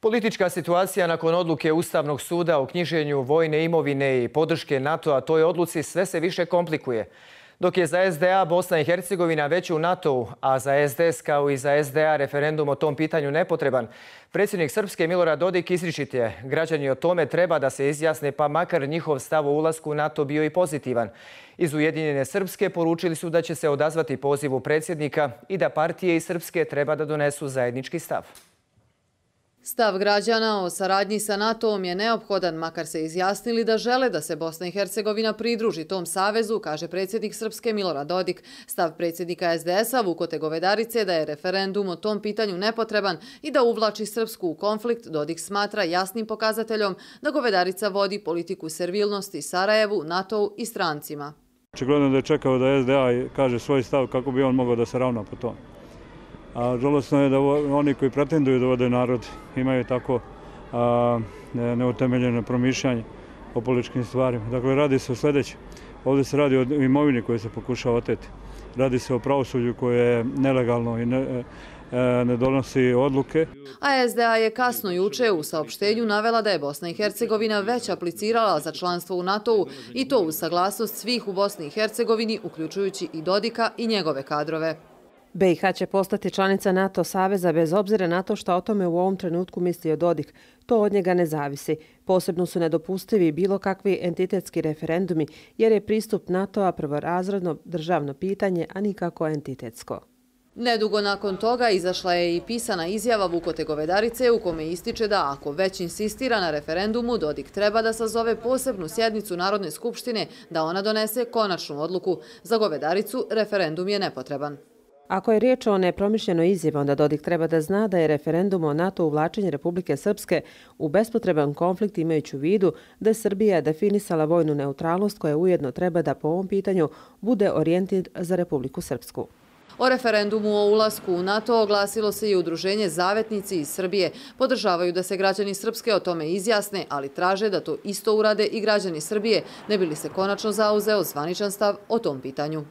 Politička situacija nakon odluke Ustavnog suda o knjiženju vojne imovine i podrške NATO-a toj odluci sve se više komplikuje. Dok je za SDA Bosna i Hercegovina već u NATO-u, a za SDS kao i za SDA referendum o tom pitanju nepotreban, predsjednik Srpske Milorad Dodik izričit je: građani o tome treba da se izjasne, pa makar njihov stav o ulasku u NATO bio i pozitivan. Iz Ujedinjene Srpske poručili su da će se odazvati pozivu predsjednika i da partije iz Srpske treba da donesu zajednički stav. Stav građana o saradnji sa NATO-om je neophodan, makar se izjasnili da žele da se Bosna i Hercegovina pridruži tom savezu, kaže predsjednik Srpske Milorad Dodik. Stav predsjednika SDS-a Vukote Govedarice da je referendum o tom pitanju nepotreban i da uvlači Srpsku u konflikt, Dodik smatra jasnim pokazateljom da Govedarica vodi politiku servilnosti Sarajevu, NATO-u i strancima. Očigledno da je čekao da SDA kaže svoj stav kako bi on mogao da se ravna po tom. A žalosno je da oni koji pretenduju da vode narod imaju tako neutemeljeno promišljanje o političkim stvarima. Dakle, radi se o sljedećem. Ovdje se radi o imovini koju se pokušava oteti. Radi se o pravosuđu koje je nelegalno i ne donosi odluke. A SDA je kasno juče u saopštenju navela da je Bosna i Hercegovina već aplicirala za članstvo u NATO-u i to uz saglasnost svih u Bosni i Hercegovini, uključujući i Dodika i njegove kadrove. BiH će postati članica NATO saveza bez obzira na to što o tome u ovom trenutku mislio Dodik. To od njega ne zavisi. Posebno su nedopustivi bilo kakvi entitetski referendumi jer je pristup NATO-a prvorazredno državno pitanje, a nikako entitetsko. Nedugo nakon toga izašla je i pisana izjava Vukote Govedarice u kome ističe da ako već insistira na referendumu, Dodik treba da sazove posebnu sjednicu Narodne skupštine da ona donese konačnu odluku. Za Govedaricu referendum je nepotreban. Ako je riječ o nepromišljenoj izjavi, onda Dodik treba da zna da je referendum o NATO uvlačenju Republike Srpske u bespotreban konflikt, imajući u vidu da je Srbija definisala vojnu neutralnost koja ujedno treba da po ovom pitanju bude orijentir za Republiku Srpsku. O referendumu o ulasku u NATO oglasilo se i udruženje Zavetnici iz Srbije. Podržavaju da se građani Srpske o tome izjasne, ali traže da to isto urade i građani Srbije, ne bi li se konačno zauzeo zvaničan stav o tom pitanju.